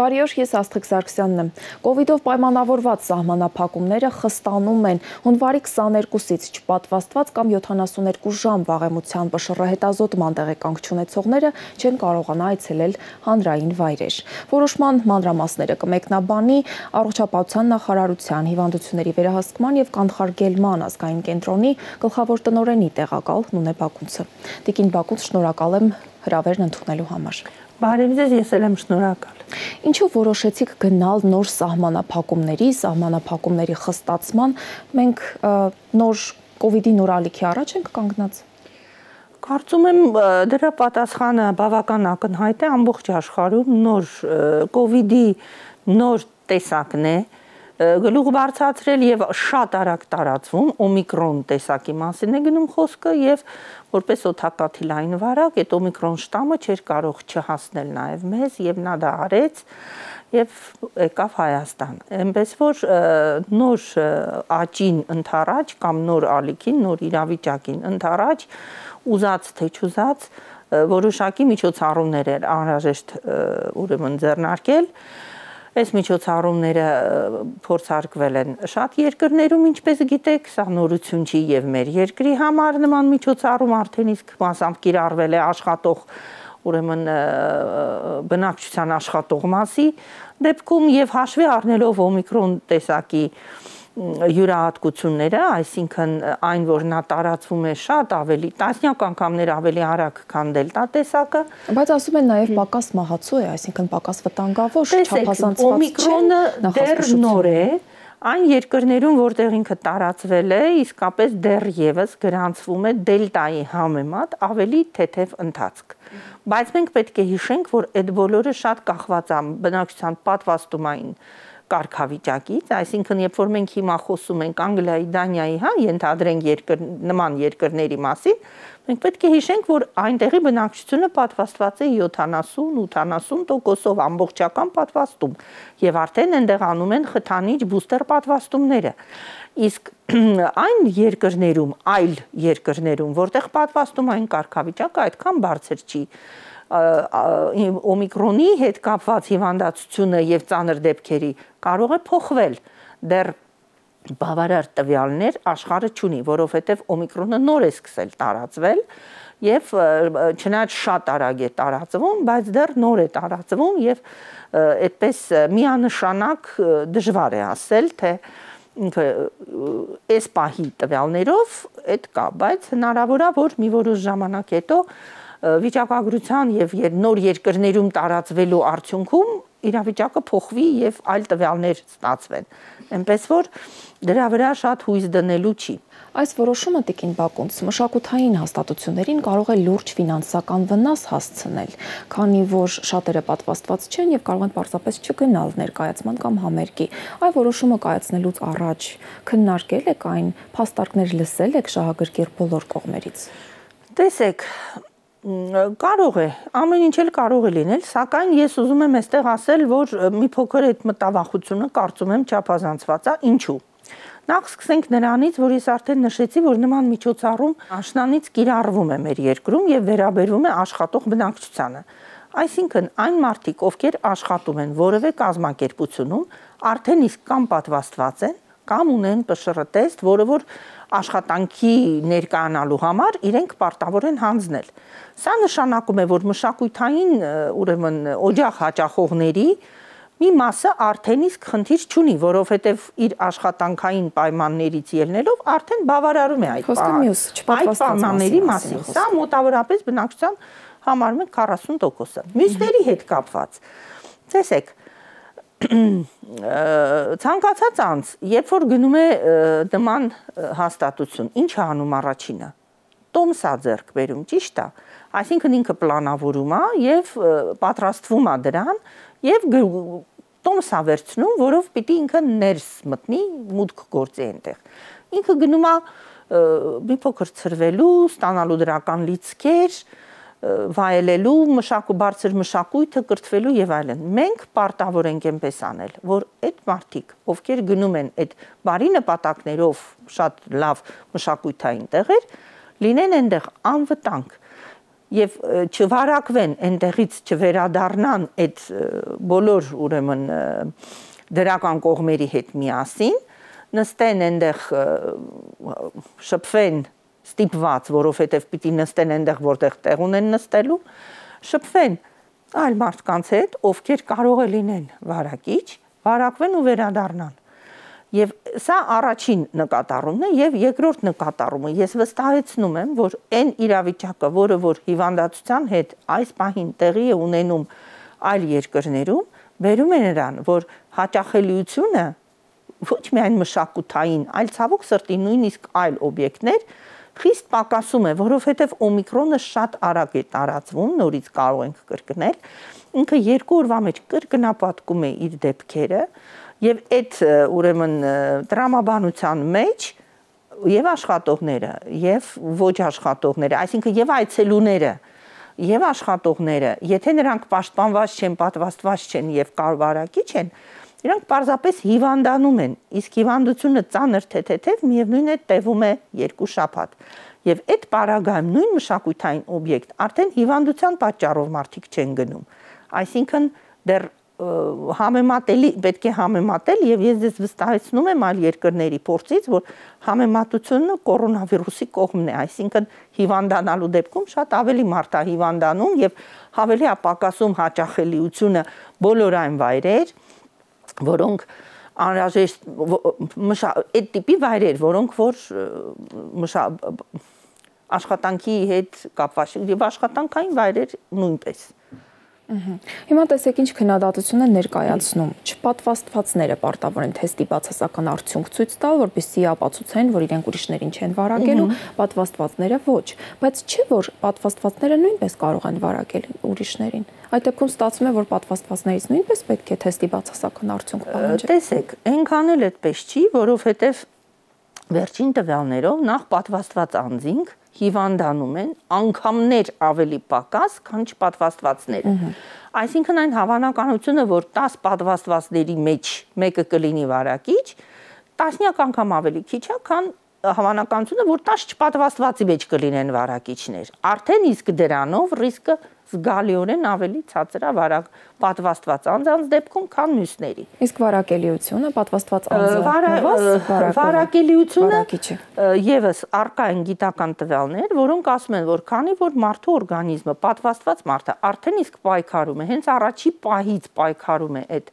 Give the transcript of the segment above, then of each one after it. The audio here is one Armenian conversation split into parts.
Բարի օր, ես Աստղիկ Սարգսյանն եմ։ Կովիդով պայմանավորված սահմանափակումները խստանում են։ Հունվարի 22-ից չպատվաստված կամ 72 ժամ վաղեմության ՊՇՌ-հետազոտման տեղեկանք չունեցողները չեն կարողանա այցելել հանրային վայրեր։ Որոշման մանրամասները կմեկնաբանի Առողջապահության նախարարության հիվանդությունների վերահսկման և կանխարգելման ազգային կենտրոնի գլխավոր տնօրենի տեղակալ Նունե Բակունցը։ Տիկին Բակունց, շնորհակալ եմ հրավերն ընդունելու համար։ Բարև ձեզ, ես էլ եմ շնորհակալ։ Ինչու որոշեցիք գնալ նոր սահմանափակումների խստացման, մենք նոր կովիդի նոր ալիքի առաջ ենք կանգնած։ Կարծում եմ դրա պատասխանը բավական ակնհայտ է, ամբողջ աշխարհում նոր կովիդի նոր տեսակն է, գլուխ բարձրացրել եւ շատ արագ տարածվում, օմիկրոն տեսակի մասին է գնում խոսքը եւ որպես օդակաթիլային վարակ այդ օմիկրոն շտամը չէր կարող չհասնել նաեւ մեզ եւ նա դա արեց եւ եկավ Հայաստան։ Այնպես որ նոր աճին ընթառաջ կամ նոր ալիքին, նոր իրավիճակին ընթառաջ ուզած թե չուզած որոշակի միջոցառումներ էր անհրաժեշտ ուրեմն ձեռնարկել։ Այս միջոցառումները փորձարկվել են շատ երկրներում, ինչպես գիտեք, սա նորություն չի եւ մեր երկրի համար նման միջոցառում արդեն իսկ մասամբ կիրառվել է աշխատող ուրեմն բնակչության աշխատող մասի դեպքում եւ հաշվի առնելով օմիկրոն տեսակի յուրահատկությունները, այսինքն այն, որ նա տարածվում է շատ ավելի, տասնյակ անգամներ ավելի արագ, քան դելտա տեսակը, բայց ասում են նաև պակաս մահացու է, այսինքն պակաս վտանգավոր, չափազանցված չէ։ Օմիկրոնը դեռ նոր է, այն երկրներում, որտեղ ինքը տարածվել է, իսկապես դեռևս գրանցվում է դելտայի համեմատ ավելի թեթև ընթացք։ Բայց մենք պետք է հիշենք, որ այդ բոլորը շատ կախված է բնակչության պատվաստումային կարգավիճակից, այսինքն երբ որ մենք հիմա խոսում ենք Անգլիայի, Դանիայի, ենթադրենք նման երկրների մասին, մենք պետք է հիշենք, որ այնտեղի բնակչությունը պատվաստված է 70-80% ամբողջական պատվաստում եւ արդեն այնտեղ անում են խթանիչ բուստեր պատվաստումները։ Իսկ այն երկրներում, այլ երկրներում, որտեղ պատվաստումային կարգավիճակը այդքան բարձր չի, օմիկրոնի հետ կապված հիվանդացությունը եւ ծանր դեպքերի կարող է փոխվել, դեռ բավարար տվյալներ աշխարհը չունի, որովհետեւ օմիկրոնը նոր է սկսել տարածվել եւ չնայած շատ արագ է տարածվում, բայց դեռ նոր է տարածվում եւ այդպես միանշանակ դժվար է ասել, թե ինքը այս պահի տվյալներով այդ կա, բայց հնարավոր է, որ մի որոշ ժամանակ հետո վիճակագրության եւ նոր երկրներում տարածվելու արդյունքում իրավիճակը փոխվի եւ այլ տվյալներ ստացվեն։ Այնպես որ դրա վրա շատ հույս դնելու չի։ Այս որոշումը Տիկին Բակունց մշակութային հաստատություններին կարող է լուրջ ֆինանսական վնաս հասցնել, քանի որ շատերը պատվաստված չեն եւ կարող են պարզապես չգնալ ներկայացման կամ համերգի։ Այ որոշումը կայացնելուց առաջ քննարկել եք այն, փաստարկներ լսել եք շահագրգիռ բոլոր կողմերից։ Տեսեք, կարող է, ամեն ինչ էլ կարող է լինել, սակայն ես ուզում եմ այստեղ ասել, որ մի փոքր այդ մտավախությունը կարծում եմ չափազանցված է, ինչու։ Նախ սկսենք նրանից, որ ես արդեն նշեցի, որ նման միջոցառում աշնանից կիրառվում է մեր երկրում եւ վերաբերվում է աշխատող բնակչությանը։ Այսինքն այն մարդիկ, ովքեր աշխատում են որևէ կազմակերպությունում, արդեն իսկ կամ պատվաստված են, կամ ունեն ՊՇՌ-տեստ, որը որ աշխատանքի ներկայանալու համար իրենք պարտավոր են հանձնել։ Սա նշանակում է, որ մշակութային ուրեմն օջախ հաճախողների մի մասը արդեն իսկ խնդիր չունի, որովհետև իր աշխատանքային պայմաններից ելնելով արդեն բավարարում է այդ պայմանների մասին։ Սա մոտավորապես բնակչության համարում է 40%-ը։ Մյուսների հետ կապված։ Տեսեք, ցանկացած անձ, երբ որ գնում է նման հաստատություն, ինչ է անում առաջինը։ Տոմս է ձեռք բերում, ճիշտ է։ Այսինքն ինքը պլանավորում է եւ պատրաստվում է դրան եւ տոմս է վերցնում, որով պիտի ինքը ներս մտնի, մուտք գործի այնտեղ։ Ինքը գնում է մի փոքր ցրվելու, ստանալու դրական լիցքեր, վայելելու բարձր մշակույթը կրթվելու եւ այլն։ Մենք պարտավոր ենք այնպես անել, որ այդ մարդիկ, ովքեր գնում են այդ բարի նպատակներով շատ լավ մշակութային տեղեր, լինեն այնտեղ անվտանգ եւ չվարակվեն այնտեղից չվերադառնան այդ բոլոր ուրեմն դրական կողմերի հետ միասին, նստեն այնտեղ շփվեն ստիպված, որովհետեւ պիտի նստեն այնտեղ, որտեղ տեղ ունեն նստելու, շփվեն այլ մարդկանց հետ, ովքեր կարող է լինեն վարակիչ, վարակվեն ու վերադառնան։ Եվ սա առաջին նկատառումն է եւ երկրորդ նկատառումը ես վստահեցնում եմ, որ այն իրավիճակը, որը որ հիվանդացության հետ այս պահին տեղի է ունենում այլ երկրներում, բերում է նրան, որ հաճախելիությունը ոչ միայն մշակութային, այլ ցավոք սրտի նույնիսկ այլ օբյեկտներ խիստ պակասում է, որովհետև օմիկրոնը շատ արագ է տարածվում, նորից կարող ենք կրկնել, ինքը 2 օրվա մեջ կրկնապատկում է իր դեպքերը եւ այդ ուրեմն տրամաբանության մեջ եւ աշխատողները եւ ոչ աշխատողները, այսինքն եւ այցելուները եւ աշխատողները, եթե նրանք պաշտպանված չեն, պատվաստված չեն եւ կարվարակիչ են, իրանք պարզապես հիվանդանում են, իսկ հիվանդությունը ծանր թեթև միևնույն է տևում է 2 շաբաթ։ Եվ այդ պարագայում նույն մշակութային օբյեկտ արդեն հիվանդության պատճառով մարդիկ չեն գնում։ Այսինքն դեռ համեմատելի պետք է համեմատել եւ ես ձեզ վստահեցնում եմ այլ երկրների փորձից, որ համեմատությունը կորոնավիրուսի կողմն է, այսինքն հիվանդանալու դեպքում շատ ավելի մարդ է հիվանդանում եւ ավելի է պակասում հաճախելիությունը բոլոր այն վայրեր, որոնք անհրաժեշտ այդ տիպի վայրեր, որոնք որ աշխատանքի հետ կապված եւ աշխատանքային վայրեր նույնպես։ Հիմա տեսեք ինչ քննադատություն են ներկայացնում, չպատվաստվածները պարտավոր են թեստի բացասական արդյունք ցույց տալ, որպեսզի ապացուցեն, որ իրենք ուրիշներին չեն վարակելու, պատվաստվածները ոչ, բայց չէ որ պատվաստվածները նույնպես կարող են վարակել ուրիշներին։ Այդ դեպքում ստացվում է, որ պատվաստվածներից նույնպես պետք է թեստի բացասական արդյունք պահանջել։ Տեսեք, այնքան էլ այդպես չի, որովհետև վերջին տվյալներով նախ պատվաստված անձինք հիվանդանում են անգամներ ավելի պակաս, քան չպատվաստվածները։ Այսինքն այն հավանականությունը, որ 10 պատվաստվածների մեջ մեկը կլինի վարակիչ, տասնյակ անգամ ավելի քիչ է, քան հավանականությունը, որ 10 չպատվաստվածի մեջ կլինեն վարակիչներ։ Արդեն իսկ դրանով ռիսկը զգալիորեն ավելի ցածր է պատվաստված անձանց դեպքում, քան մյուսների։ Իսկ վարակելիությունը պատվաստված անձը վարակելիությունը եւս առկա են գիտական տվյալներ, որոնք ասում են, որ քանի որ մարդու օրգանիզմը պատվաստված մարդը արդեն իսկ պայքարում է, հենց առաջի պահից պայքարում է այդ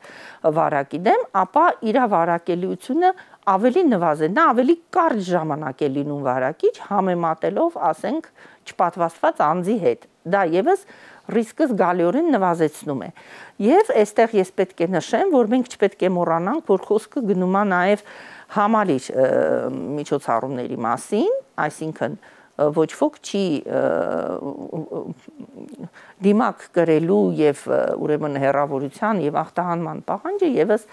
վարակի դեմ, ապա իր վարակելիությունը ավելի նվազեն, նա ավելի կարճ ժամանակ է լինում վարակիչ, համեմատելով, ասենք, չպատվաստված անձի հետ։ Դա եւս ռիսկը զգալիորեն նվազեցնում է։ Եվ այստեղ ես պետք է նշեմ, որ մենք չպետք է մոռանանք, որ խոսքը գնում է նաեւ համալիր միջոցառումների մասին, այսինքն ոչ ոք չի դիմակ կրելու եւ ուրեմն հերավորության եւ ախտահանման պահանջը եւս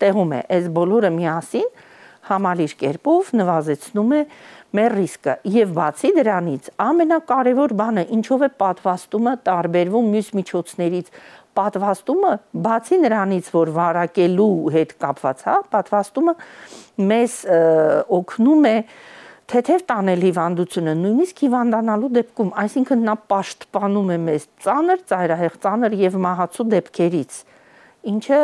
տեղում է։ Այս բոլորը միասին համալիր կերպով նվազեցնում է մեր ռիսկը եւ բացի դրանից ամենակարևոր բանը ինչով է պատվաստումը տարբերվում մյուս միջոցներից պատվաստումը բացի նրանից որ վարակելու հետ կապված է պատվաստումը մեզ օգնում է թեթև տանել հիվանդությունը նույնիսկ հիվանդանալու դեպքում այսինքն նա պաշտպանում է մեզ ծանր ծայրահեղ ծանր եւ մահացու դեպքերից ինչը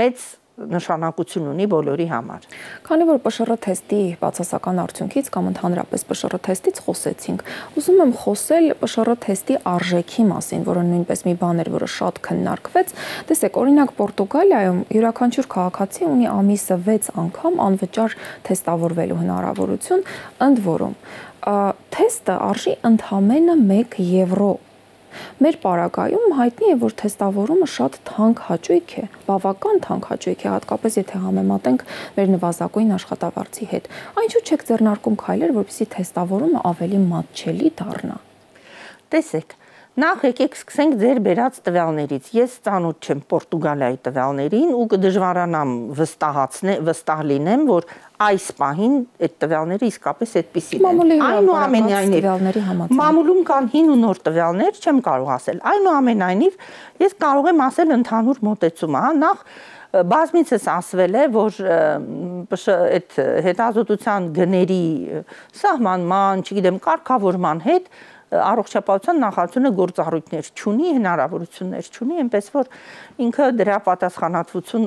մեծ նշանակություն ունի բոլորի համար։ Քանի որ ՊՇՌ թեստի բացասական արդյունքից կամ ընդհանրապես ՊՇՌ թեստից խոսեցինք, ուզում եմ խոսել ՊՇՌ թեստի արժեքի մասին, որը նույնպես մի բան էր, որը շատ քննարկվեց։ Տեսեք, օրինակ Պորտուգալիայում յուրաքանչյուր քաղաքացի ունի ամիսը 6 անգամ անվճար թեստավորվելու հնարավորություն, ընդ որում թեստը արժի ընդամենը 1 եվրո։ Մեր պարագայում հայտնի է, որ թեստավորումը շատ թանկ հաճույք է, բավական թանկ հաճույք է, հատկապես եթե համեմատենք մեր նվազագույն աշխատավարձի հետ։ Այնչու չեք ձեռնարկում քայլեր, որպեսզի թեստավորումը ավելի մատչելի դառնա։ Տեսեք, նախ եկեք սկսենք ձեր բերած տվյալներից։ Ես ծանոթ չեմ Պորտուգալիայի տվյալներին ու կդժվարանամ վստահ լինեմ, որ այս պահին այդ տվյալները իսկապես այդպիսին են։ Այնուամենայնիվ մամուլում կան հին ու նոր տվյալներ, չեմ կարող ասել։ Այնուամենայնիվ ես կարող եմ ասել ընդհանուր մոտեցումը, հա, նախ բազմիցս ասվել է, որ այդ հետազոտության գների սահմանման, չգիտեմ, կարգավորման հետ առողջապահության նախարարությունը գործառույթներ չունի, հնարավորություններ չունի, այնպես որ ինքը դրա պատասխանատվություն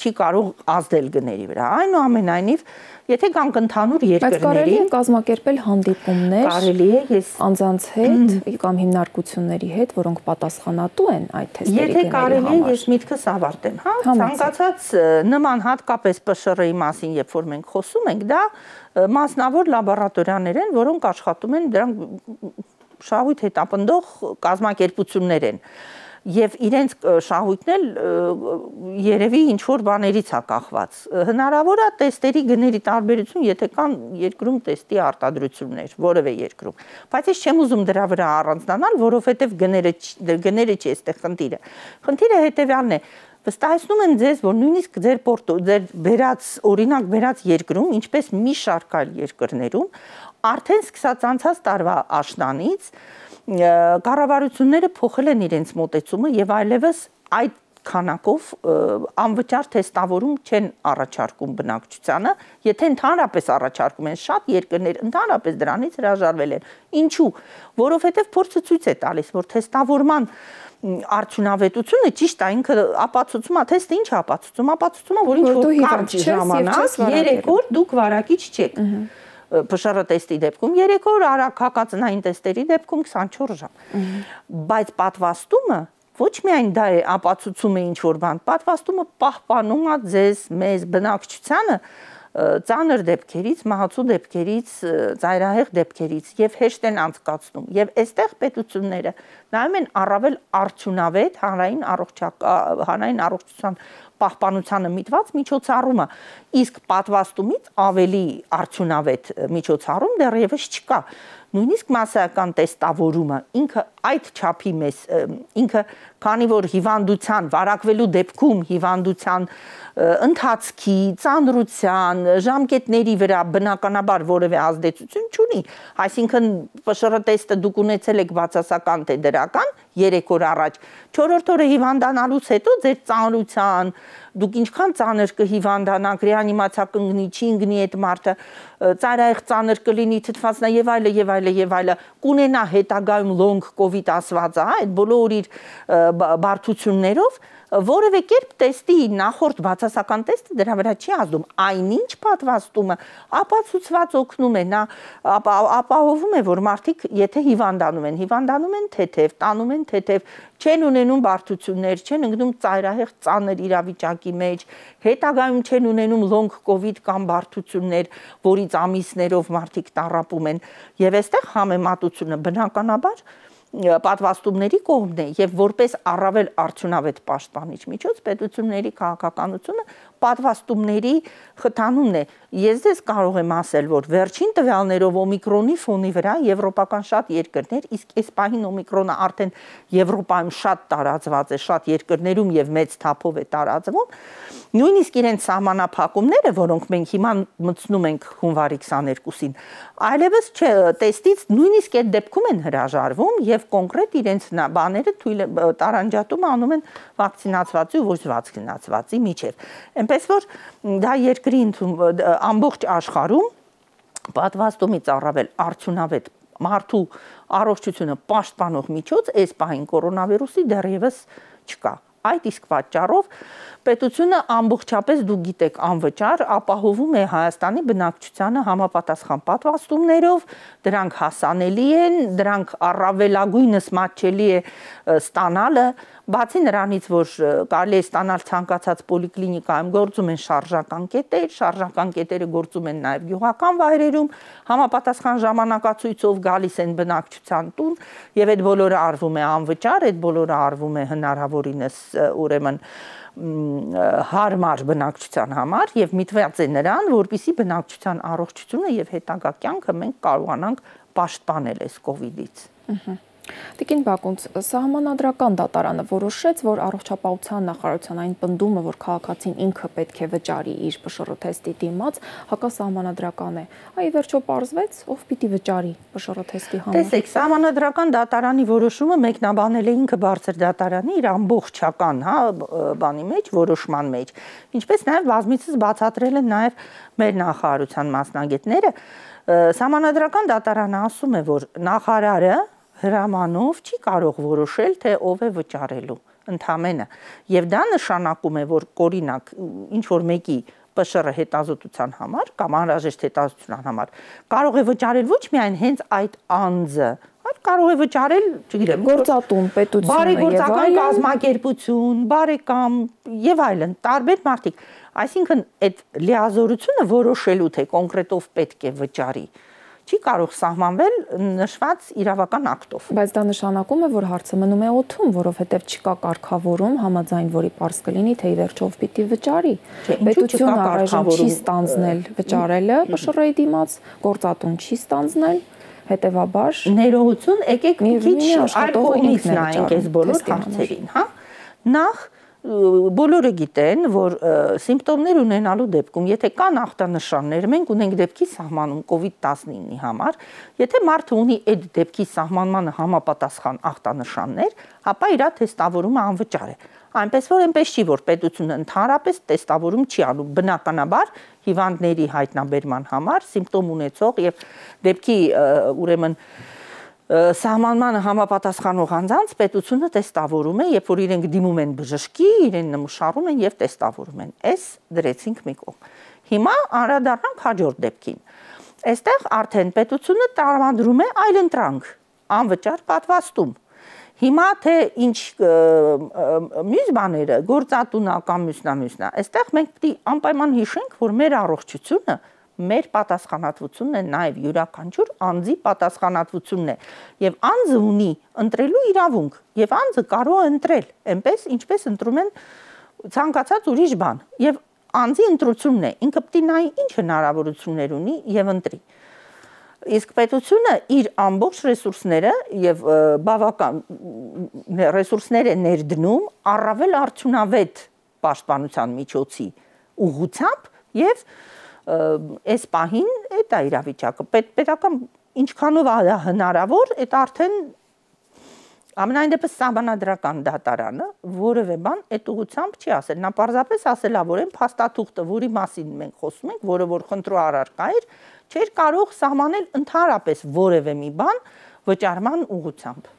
չի կարող ազդել գների վրա։ Այնուամենայնիվ, եթե կան ընդհանուր երկրների, բայց կարելի է կազմակերպել հանդիպումներ, կարելի է անձանց հետ կամ հիմնարկությունների հետ, որոնք պատասխանատու են այդ թեստերի գների համար։ Եթե կարելի է, ես միտքս ավարտեմ, հա, ցանկացած նման հատկապես ՊՇՌ-ի մասին, երբ որ մենք խոսում ենք, դա մասնավոր լաբորատորիաներ են, որոնք աշխատում են, դրանք շահույթ հետապնդող կազմակերպություններ են։ Եվ իրենց շահույթն էլ երևի ինչ-որ բաներից է կախված։ Հնարավոր է տեստերի գների տարբերություն, եթե կան երկրում տեստի արտադրություններ, որևէ երկրում։ Բայց ես չեմ ուզում դրա վրա առանձնանալ, որովհետև գները չի այստեղ խնդիրը։ Խնդիրը հետևյալն է. վստահեցնում են ձեզ, որ նույնիսկ ձեր օրինակ բերած երկրում, ինչպես մի շարք այլ երկրներում, արդեն սկսած անցած տարվա աշնանից կառավարությունները փոխել են իրենց մոտեցումը եւ այլևս այդ քանակով անվճար թեստավորում չեն առաջարկում բնակչությանը, եթե ընդհանրապես առաջարկում են, շատ երկրներ ընդհանրապես դրանից հրաժարվել են։ Ինչու՞։ Որովհետեւ փորձը ցույց է տալիս, որ թեստավորման արդյունավետությունը ճիշտ է, ինքը ապացուցում է, թեստը ինչ է ապացուցում, որ ինչ որ կարճ ժամանակ 3 օր դուք վարակիչ չեք։ ՊՇՌ տեստի դեպքում 3 օր, արագ հակածնային տեստերի դեպքում 24 ժամ։ Բայց պատվաստումը ոչ միայն դա է ապացուցում է ինչ որ բան, պատվաստումը պահպանում է ձեզ, մեզ, բնակչությանը ծանր դեպքերից, մահացու դեպքերից, ծայրահեղ դեպքերից եւ հեշտ են անցկացնում։ Եվ այստեղ պետությունները նայում են առավել արդյունավետ հանրային առողջության պահպանությանը միտված միջոցառումը, իսկ պատվաստումից ավելի արդյունավետ միջոցառում դեռևս չկա։ Նույնիսկ մասսայական տեստավորումը ինքը այդ չափի մեզ, ինքը քանի որ հիվանդության, վարակվելու դեպքում հիվանդության ընթացքի, ծանրության, ժամկետների վրա բնականաբար որևէ ազդեցություն չունի, այսինքն ՊՇՌ տեստը դուք ունեցել եք բացասական թե դրական 3 օր առաջ, 4-րդ օրը հիվանդանալուց հետո ձեր ծանրության, դուք ինչքան ծանր կհիվանդանաք, ռեանիմացիա կընկնի, չի ընկնի այդ մարդը, ծայրահեղ ծանր կլինի, թթվածնա եւ այլը, կունենա հետագայում լոնգ կովիդ ասվածը, այդ բոլոր իր բարդություններով, որևէ կերպ տեստի նախորդ բացասական տեստը դրա վրա չի ազդում, այնինչ պատվաստումը ապացուցված օգնում է, նա ապահովում է, որ մարդիկ եթե հիվանդանում են թեթև, տանում են թեթև, չեն ունենում բարդություններ, չեն ընկնում ծայրահեղ ծանր իրավիճակի մեջ, հետագայում չեն ունենում լոնգ կովիդ կամ բարդություններ, որից ամիսներով մարդիկ տառապում են, եւ այստեղ համեմատությունը բնականաբար պատվաստումների կողմն է եւ որպես առավել արդյունավետ պաշտպանիչ միջոց պետությունների քաղաքականությունը պատվաստումների խթանումն է։ Ես դες կարող եմ ասել, որ վերջին տվյալներով օմիկրոնի ֆոնի վրա եվրոպական շատ երկրներ, իսկ այս պահին օմիկրոնը արդեն Եվրոպայում շատ տարածված է, շատ երկրներում եւ մեծ թափով է տարածվում, նույնիսկ իրենց սահմանափակումները, որոնք մենք հիմա մտցնում ենք հունվարի 22-ին, այլևս տեստից նույնիսկ այդ դեպքում են հրաժարվում եւ կոնկրետ իրենց բաները տարանջատում անում են վակցինացվածի ու ոչ վակցինացվածի միջև։ Այնպես որ դա երկրի ամբողջ աշխարհում պատվաստումից առավել արդյունավետ մարդու առողջությունը պաշտպանող միջոց այս պահին կորոնավիրուսի դեռևս չկա։ Այդ իսկ պատճառով պետությունը ամբողջապես դուք գիտեք անվճար ապահովում է Հայաստանի բնակչությանը համապատասխան պատվաստումներով, դրանք հասանելի են, դրանք առավելագույնս մատչելի է ստանալը, բացի նրանից, որ կարելի է ստանալ ցանկացած պոլիկլինիկայում գործում են շարժական կետերը գործում են նաև գյուղական վայրերում, համապատասխան ժամանակացույցով գալիս են բնակչության տուն եւ այդ բոլորը արվում է անվճար, այդ բոլորը արվում է հնարավորինս ուրեմն հարմար բնակչության համար եւ միտված է նրան, որպեսզի բնակչության առողջությունը եւ հետագա կյանքը մենք կարողանանք պաշտպանել այս կովիդից։ Տիկին Բակունց, Սահմանադրական դատարանը որոշեց, որ առողջապահության նախարարության այն պնդումը, որ քաղաքացին ինքը պետք է վճարի իր ՊՇՌ թեստի դիմաց, հակասահմանադրական է։ Այ վերջո պարզվեց, ով պիտի վճարի ՊՇՌ թեստի համար։ Տեսեք, Սահմանադրական դատարանի որոշումը մեկնաբանել է ինքը բարձր դատարանի իր ամբողջական, բանի մեջ, որոշման մեջ, ինչպես նաև բազմիցս բացատրել են նաև մեր նախարարության մասնագետները, Սահմանադրական դատարանը ասում է, որ նախարարը հրամանով չի կարող որոշել, թե ով է վճարելու ընդամենը, եւ դա նշանակում է, որ օրինակ ինչ որ մեկի ՊՇՌ հետազոտության համար կամ անհրաժեշտ հետազոտության համար կարող է վճարել ոչ միայն հենց այդ անձը, այլ կարող է վճարել, չգիտեմ, գործատուն, պետությունը բարեգործական կազմակերպություն, բարեկամ եւ այլն, տարբեր մարդիկ։ Այսինքն այդ լիազորությունը որոշելու թե կոնկրետով պետք է վճարի չի կարող սահմանվել նշված իրավական ակտով։ Բայց դա նշանակում է, որ հարցը մնում է օդում, որովհետև չկա կարգավորում, համաձայն որի պարզ կլինի, թե ի վերջով պիտի վճարի։ Պետությունը առայժմ չի ստանձնել վճարելը ՊՇՌ-ի դիմաց, գործատուն չի ստանձնել, հետևաբար ներողություն, եկեք մի քիչ այլ կողմից նայենք այս բոլոր հարցերին, հա։ Նախ բոլորը գիտեն, որ սիմպտոմներ ունենալու դեպքում, եթե կան ախտանշաններ, մենք ունենք դեպքի սահմանում COVID-19-ի համար, եթե մարդը ունի այդ դեպքի սահմանմանը համապատասխան ախտանշաններ, ապա իր թեստավորումը անվճար է։ Այնպես որ այնպես չի, որ պետությունը ընդհանրապես թեստավորում չի անում, բնականաբար հիվանդների հայտնաբերման համար սիմպտոմ ունեցող եւ դեպքի ուրեմն սահմանմանը համապատասխանող անձանց պետությունը տեստավորում է, երբ որ իրենք դիմում են բժշկի, իրեն նմուշարում են եւ տեստավորում են։ Այս դրեցինք մի կողմ։ Հիմա անդրադառնանք հաջորդ դեպքին։ Այստեղ արդեն պետությունը տրամադրում է այլընտրանք, անվճար պատվաստում։ Հիմա թե ինչ մյուս բաները, գործատունական մյուսնա, այստեղ մենք պետք է անպայման հիշենք, որ մեր առողջությունը մեր պատասխանատվությունն է նաև յուրաքանչյուր անձի պատասխանատվությունն է եւ անձը ունի ընտրելու իրավունք եւ անձը կարող է ընտրել այնպես ինչպես ընտրում են ցանկացած ուրիշ բան եւ անձի ընտրությունն է ինքը պետք է նայի ինչ հնարավորություններ ունի եւ ընտրի իսկ պետությունը իր ամբողջ ռեսուրսները եւ բավական ռեսուրսներ է ներդնում առավել արդյունավետ պաշտպանության միջոցի ուղղությամբ եւ այս պահին այդ է իրավիճակը պետական ինչքանով է հնարավոր այդ արդեն ամենայն դեպս սահմանադրական դատարանը որևէ բան այդ ուղղությամբ չի ասել նա պարզապես ասել է որ այն փաստաթուղթը որի մասին մենք խոսում ենք որը որ խնդրու առարկա էր չէր կարող սահմանել ընդհանրապես որևէ մի բան վճարման ուղղությամբ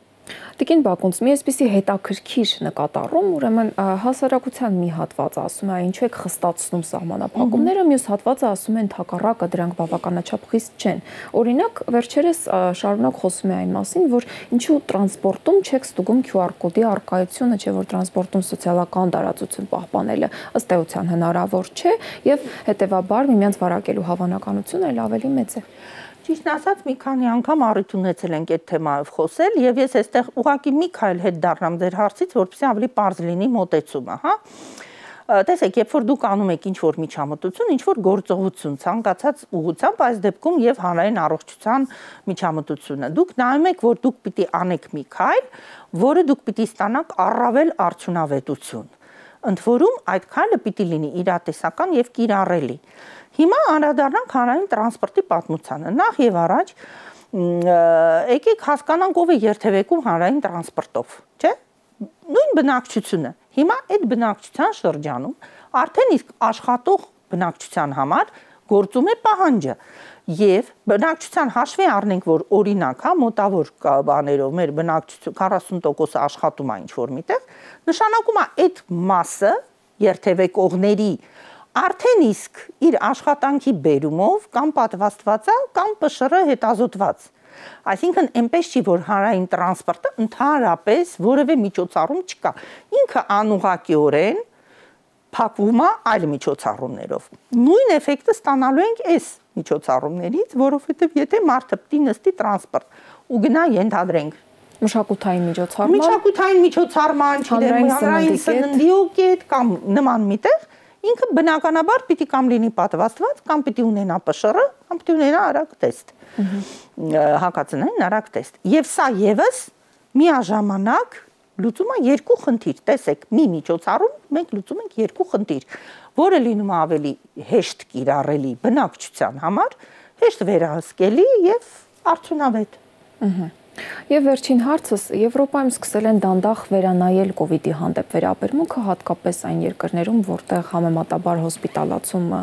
Տիկին Բակունց, մի այսպիսի հետաքրքիր նկատառում, ուրեմն հասարակության մի հատվածը ասում է, ինչու եք խստացնում սահմանափակումները, մյուս հատվածը ասում է ընդհակառակը դրանք բավականաչափ խիստ չեն։ Օրինակ, վերջերս շարունակ խոսում է այն մասին, որ ինչու տրանսպորտում չեք ստուգում QR կոդի առկայությունը, չէ՞ որ տրանսպորտում սոցիալական տարածություն պահպանելը ըստ էության հնարավոր չէ եւ հետեւաբար միմյանց վարակելու հավանականությունը այլ ավելի մեծ է։ Ճիշտ ասած, մի քանի անգամ առիթ ունեցել ենք այդ թեմայով խոսել եւ ես այստեղ ուղղակի մի քայլ հետ դառնամ ձեր հարցից, որպեսզի ավելի པարզ լինի մոտեցումը, հա։ Տեսեք, երբ որ դուք անում եք ինչ-որ միջամտություն, ինչ-որ գործողություն, ցանկացած ուղղությամբ, այս դեպքում եւ հանրային առողջության միջամտությունը, դուք նայում եք, որ դուք պիտի անեք մի քայլ, որը դուք պիտի ստանաք առավել արդյունավետություն։ Ընդ որում այդ քայլը պիտի լինի իրատեսական եւ կիրառելի։ Հիմա անդրադառնանք հանրային տրանսպորտի պատմությանը։ Նախ եւ առաջ եկեք հասկանանք ով է երթևեկում հանրային տրանսպորտով, չէ՞։ Նույն բնակչությունը։ Հիմա այդ բնակչության շրջանում արդեն իսկ աշխատող բնակչության համար գործում է պահանջը եւ բնակչության հաշվի առնենք որ օրինակ հա մոտավոր բաներով մեր բնակչություն 40% աշխատում է ինչ որ միտեղ նշանակում է այդ մասը երթևեկողների արդեն իսկ իր աշխատանքի բերումով կամ պատվաստված է կամ ՊՇՌ հետազոտված այսինքն այնպես չի որ հանրային տրանսպորտը ընդհանրապես որևէ միջոցառում չկա ինքը անուղղակիորեն փակվում է այլ միջոցառումներով նույն էֆեկտը ստանալու ենք այս միջոցառումներից որովհետև եթե մարդը պիտի նստի տրանսպորտ ու գնա ենթադրենք մշակութային միջոցառման, հանրային սննդի կետ կամ նման միտեղ ինքը բնականաբար պիտի կամ լինի պատվաստված կամ պիտի ունենա ՊՇՌ կամ պիտի ունենա արագ տեստ հակածնային արագ տեստ եւ սա եւս միաժամանակ լուծում է երկու խնդիր տեսեք մի միջոցառում մենք լուծում ենք երկու խնդիր որը լինում է ավելի հեշտ կիրառելի բնակչության համար հեշտ վերահսկելի եւ արդյունավետ Եվ վերջին հարցս Եվրոպայում սկսել են դանդաղ վերանայել կովիդի հանդեպ վերաբերմունքը, հատկապես այն երկրներում, որտեղ համեմատաբար հոսպիտալացումը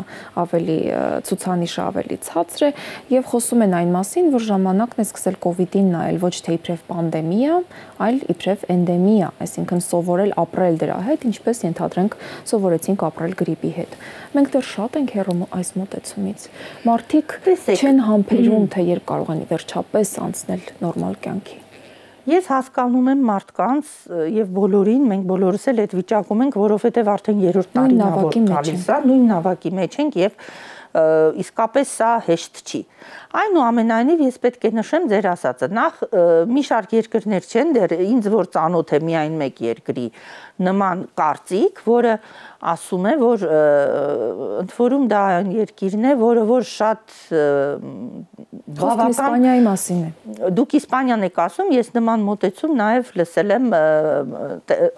ցուցանիշը ավելի ցածր է, եւ խոսում են այն մասին, որ ժամանակն է սկսել կովիդին նայել ոչ թե իբրև պանդեմիա, այլ իբրև էնդեմիա, այսինքն սովորել ապրել դրա հետ, ինչպես ենթադրենք սովորեցինք ապրել գրիպի հետ։ Մենք դեռ շատ ենք հեռու այս մոտեցումից։ Մարդիկ չեն համբերում, թե երբ կարող են վերջապես անցնել նորմալ կյանքի։ Ես հասկանում եմ մարդկանց եւ բոլորին, մենք բոլորս էլ այդ վիճակում ենք, որովհետեւ արդեն 3-րդ տարին գալիս է, նույն նավակի մեջ ենք եւ իսկապես սա հեշտ չի։ Այնուամենայնիվ ես պետք է նշեմ ձեր ասածը, նախ մի շարք երկրներ չեն, դեռ ինձ որ ծանոթ է միայն մեկ երկրի նման կարծիք, որը ասում է, որ ընդ որում դա այն երկիրն է, որ շատ բավական Իսպանիայի մասին է։ Դուք Իսպանիան եք ասում, ես նման մոտեցում նաև լսել եմ,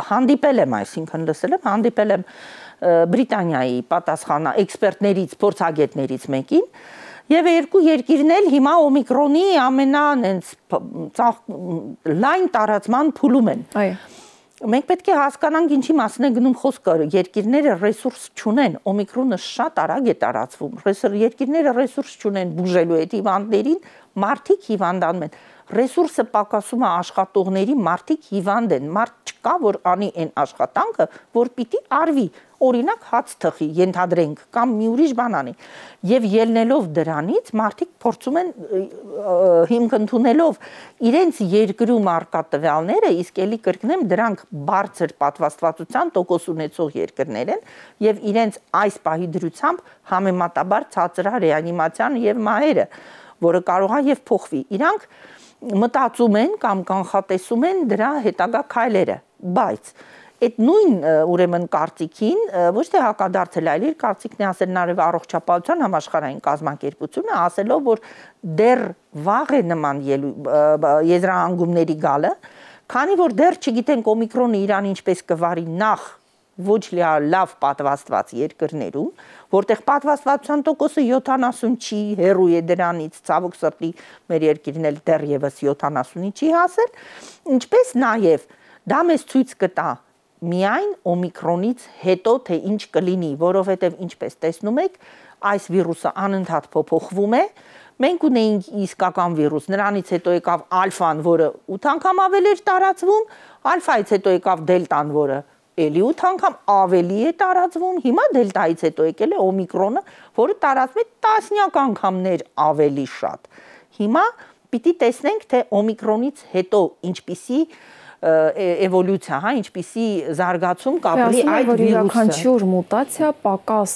հանդիպել եմ, այսինքն լսել եմ, հանդիպել եմ Բրիտանիայի պատասխանա էքսպերտներից, փորձագետներից մեկին, եւ երկու երկիրն էլ հիմա օմիկրոնի լայն տարածման փուլում են։ Այո։ Մենք պետք է հասկանանք ինչի մասին է գնում խոսքը, երկիրները ռեսուրս չունեն, օմիկրոնը շատ արագ է տարածվում, երկիրները ռեսուրս չունեն բուժելու այդ հիվանդներին, մարդիկ հիվանդանում են, ռեսուրսը պակասում է աշխատողների, մարդիկ հիվանդ են, մարդ չկա, որ անի այն աշխատանքը, որ պիտի արվի, օրինակ հաց թխի, ենթադրենք, կամ մի ուրիշ բան անի, եւ ելնելով դրանից մարդիկ փորձում են հիմք ընդունելով իրենց երկրում արկա տվյալները, իսկ ելի կրկնեմ, դրանք բարձր պատվաստվածության տոկոս ունեցող երկրներ են եւ իրենց այս պահի դրությամբ համեմատաբար ցածր է ռեանիմացիան եւ մահերը, որը կարող է եւ փոխվի։ Իրանք մտածում են կամ կանխատեսում են դրա հետագա քայլերը, բայց այդ նույն ուրեմն կարծիքին ոչ թե հակադարձել, այլ իր կարծիքն է ասել նաև առողջապահության համաշխարհային կազմակերպությունը, ասելով, որ դեռ վաղ է նման եզրահանգումների գալը, քանի որ դեռ չգիտենք օմիկրոնը իրան ինչպես կվարի նախ ոչ լավ պատվաստված երկրներում, որտեղ պատվաստվածության տոկոսը 70 չի, հեռու է դրանից, ցավոք սրտի մեր երկիրն էլ դեռևս 70-ի չի հասել, ինչպես նաև դա մեզ ցույց կտա միայն օմիկրոնից հետո թե ինչ կլինի, որովհետև ինչպես տեսնում եք, այս վիրուսը անընդհատ փոփոխվում է, մենք ունեինք իսկական վիրուս, նրանից հետո եկավ ալֆան, որը 8 անգամ ավելի էր տարածվում, ալֆայից հետո եկավ դելտան, որը էլի 8 անգամ ավելի է տարածվում, հիմա դելտայից հետո եկել է օմիկրոնը, որը տարածվում է տասնյակ անգամներ ավելի շատ։ Հիմա պիտի տեսնենք, թե օմիկրոնից հետո ինչպիսի էվոլյուցիա, հա, ինչպիսի զարգացում կապրի այդ վիրուսը։ Յուրաքանչյուր մուտացիա պակաս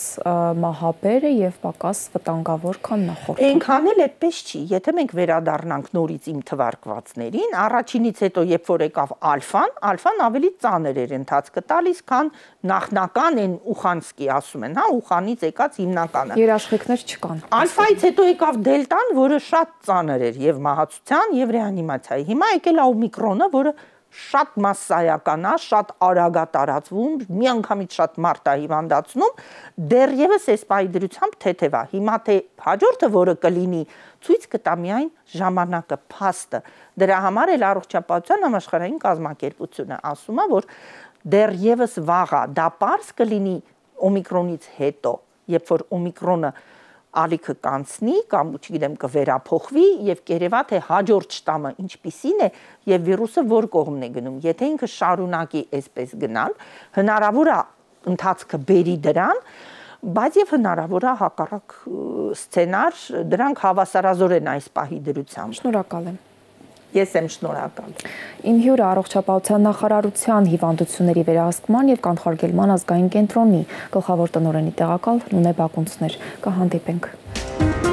մահաբեր է եւ պակաս վտանգավոր, քան նախորդը։ Այնքան էլ այդպես չի, եթե մենք վերադառնանք նորից իմ թվարկվածներին, առաջինից հետո երբ որ եկավ ալֆան ավելի ծանր էր ընթացքը տալիս, քան նախնական այն Ուխանսկի ասում են, հա, Ուխանից եկած հիմնականը։ Երաշխիքներ չկան։ Ալֆայից հետո եկավ դելտան, որը շատ ծանր էր եւ մահացության եւ ռեանիմացիայի։ Հիմա եկել է օմիկրոնը, որը շատ մասսայական է, շատ արագ է տարածվում, միանգամից շատ մարդ է հիվանդացնում, դեռևս այս պահի դրությամբ թեթև է։ Հիմա թե հաջորդը, որը կլինի, ցույց կտա միայն ժամանակը, փաստը։ Դրա համար էլ առողջապահության համաշխարհային կազմակերպությունը ասում է, որ դեռևս վաղ է, դա պարզ կլինի օմիկրոնից հետո, երբ որ օմիկրոնը ալիքը կանցնի կամ չգիտեմ կվերափոխվի եւ կերևա թե հաջորդ շտամը ինչպիսին է եւ վիրուսը որ կողմն է գնում, եթե ինքը շարունակի այսպես գնալ, հնարավոր է ընթացքը բերի դրան, բայց եւ հնարավոր է հակառակ սցենար, դրանք հավասարազոր են այս պահի դրությամբ։ Շնորհակալ եմ։ Ես եմ շնորհակալ։ Իմ հյուրը առողջապահության նախարարության հիվանդությունների վերահսկման եւ կանխարգելման ազգային կենտրոնի գլխավոր տնօրենի տեղակալ Նունե Բակունցն էր։ Կհանդիպենք։